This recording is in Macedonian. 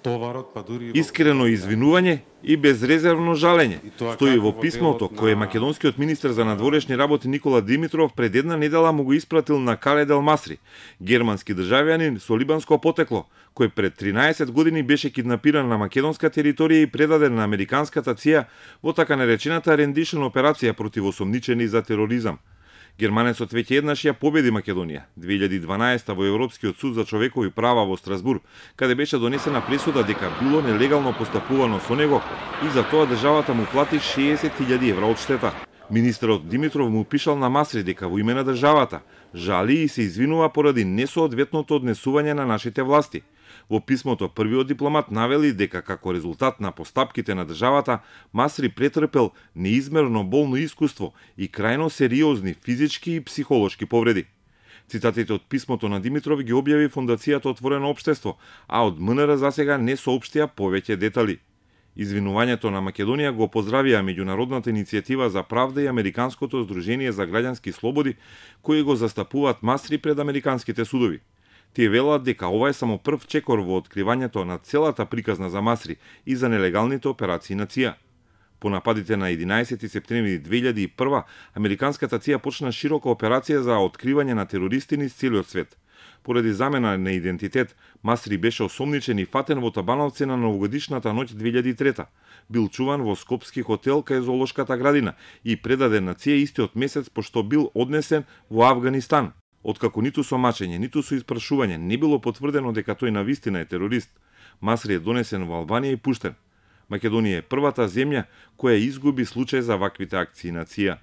товарот, па дури Искрено извинување и безрезервно жалење стои во писмото кое македонскиот министер за надворешни работи Никола Димитров пред една недела му го испратил на Калед Ел Масри, германски државјанин со либанско потекло, кој пред 13 години беше киднапиран на македонска територија и предаден на американската ЦИА во така наречената рендишн операција против осомничени за тероризам. Германецот веќе еднаш ја победи Македонија 2012 во Европскиот суд за човекови права во Страсбург, каде беше донесена пресуда дека било нелегално постапувано со него и за тоа државата му плати 60.000 евра од штета. Министерот Димитров му пишал на Масри дека во име на државата жали и се извинува поради несоодветното однесување на нашите власти. Во писмото првиот дипломат навели дека како резултат на постапките на државата Масри претрпел неизмерно болно искуство и крајно сериозни физички и психолошки повреди. Цитатите од писмото на Димитров ги објави Фондацијата Отворено општество, а од МНР засега не соопштија повеќе детали. Извинувањето на Македонија го поздравија меѓународната иницијатива за правда и Американското здружение за граѓански слободи, кои го застапуваат Масри пред американските судови. Тие велат дека ова е само прв чекор во откривањето на целата приказна за Масри и за нелегалните операции на ЦИА. По нападите на 11 септември 2001, американската ЦИА почна широка операција за откривање на терористи низ целиот свет. Поради замена на идентитет, Масри беше осомничен и фатен во Табановци на новогодишната ноќ 2003. Бил чуван во скопски хотел кај зоолошката градина и предаден на ЦИА истиот месец пошто бил однесен во Авганистан. Откако ниту со мачење, ниту со испрашување не било потврдено дека тој навистина е терорист, Масри е донесен во Албанија и пуштен. Македонија е првата земја која изгуби случај за ваквите акции на ЦИА.